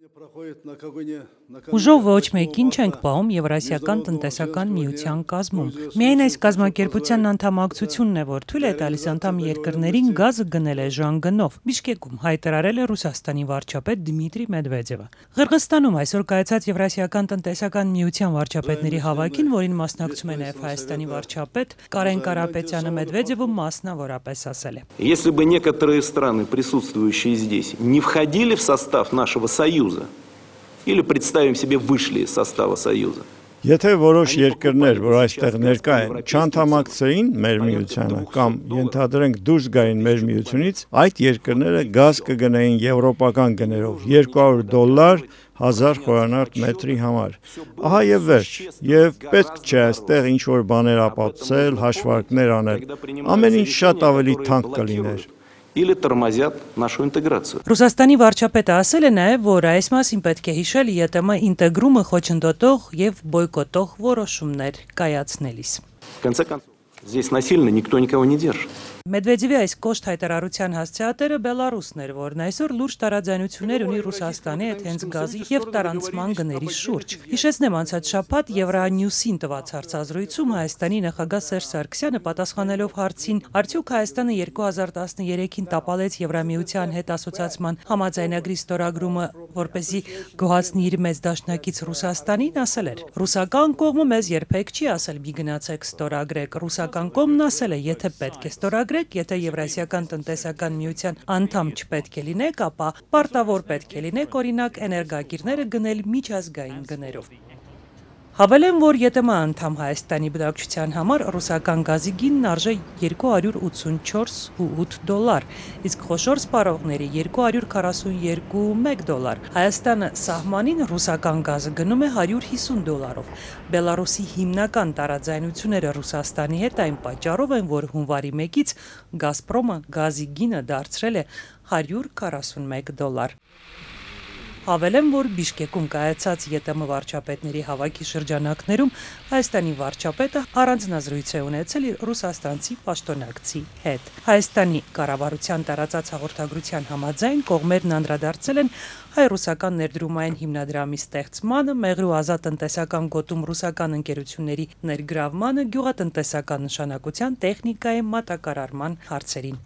Ուժով ոչ մեկին չենք պահում Եվրասիական տնտեսական միության կազմում։ Միայն այս կազմակերպության անդամակցությունն է, որ թույլ է տալիս անդամ երկրներին գազը գնել է ժանգնով։ Բիշկեկում հայտարարել է Ռուսաստանի վարչապետ Դմիտրի Մեդվեդևը։ Ղրղստանում այսօր կայացած Եվրասիական տնտեսական միության վարչապետների հավաքին, որին մասնակցում է նաև Հայաստանի վարչապետ Կարեն Կարապետյանը, Մեդվեդևը մասնավորապես ասել է. Если бы некоторые страны, присутствующие здесь, не входили в состав нашего Союза, или, представим себе, вышли из состава Союза. Եթե որոշ երկրներ, որ այստեղ ներկա են, չանդամակցեին մեր միությանը կամ ենթադրենք դուրս գային մեր միությունից, այդ երկրները գազ կգնեին եվրոպական գներով $200 1000 խորանարդ մետրի համար։ Ահա եւ վերջ, եւ պետք չէ այստեղ ինչ-որ բաներ ապացուցել, հաշվարկներ անել։ Ամեն ինչ շատ ավելի թանկ կլիներ։ Или тормозят нашу интеграцию. Ռուսաստանի վարչապետը ասել է նաև, որ այս մասին պետք է հիշել ԵՏՄ ինտեգրումը խոչընդոտող եւ բոյկոտող որոշումներ կայացնելիս։ В конце концов, здесь насильно никто никого не держит. Մեդվեդևի այս կոշտ հայտարարության հասցեատերը Բելարուսն էր, որն այսօր լուրջ տարաձայնություններ ունի Ռուսաստանի հետ հենց գազի եւ տարանցման գների շուրջ։ Հիշեցնեմ, անցած շաբաթ Евronewс-ին տված հարցազրույցում Հայաստանի նախագահ Սերժ Սարգսյանը պատասխանելով հարցին, արդյոք Հայաստանը 2013-ին տապալեց Եվրամիության հետ ասոցիացման համաձայնագրի ստորագրումը, որպեսզի գոհացնի իր մեծ դաշնակից Ռուսաստանին, ասել էր. Ռուսական կողմը մեզ երբեք չի ասել՝ մի գնացեք ստորագրեք։ Ռուսական կողմն ասել է, եթե պետք է ստորագրեք, եթե Եվրասիական տնտեսական միության անդամ չպետք է լինեք, ապա պարտավոր պետք է լինեք, օրինակ, էներգակիրները գնել միջազգային գներով։ Հավելեմ, որ ԵՏՄ անդամ Հայաստանի բնակչության համար ռուսական գազի գինն արժե $284.8, իսկ խոշոր սպառողների $242.1։ Հայաստանը սահմանին ռուսական գազը գնում է $150-ով։ Բելարուսի հիմնական տարաձայնությունները Ռուսաստանի հետ այն պատճառով են, որ հունվարի 1-ից Գազպրոմը գազի գինը դարձրել է $141։ Հավելեմ, որ Բիշկեկում կայացած ԵՏՄ վարչապետների հավաքի շրջանակներում Հայաստանի վարչապետը առանձնազրույց է ունեցել իր ռուսաստանցի պաշտոնակցի հետ։ Հայաստանի կառավարության տարածած հաղորդագրության համաձայն կողմերն անդրադարձել են հայ-ռուսական ներդրումային հիմնադրամի ստեղծմանը, մեղրու ազատ տնտեսական գոտում ռուսական ընկերությունների ներգրավմանը, գյուղատնտեսական նշանակության տեխնիկայի մատակարարման հարցերին։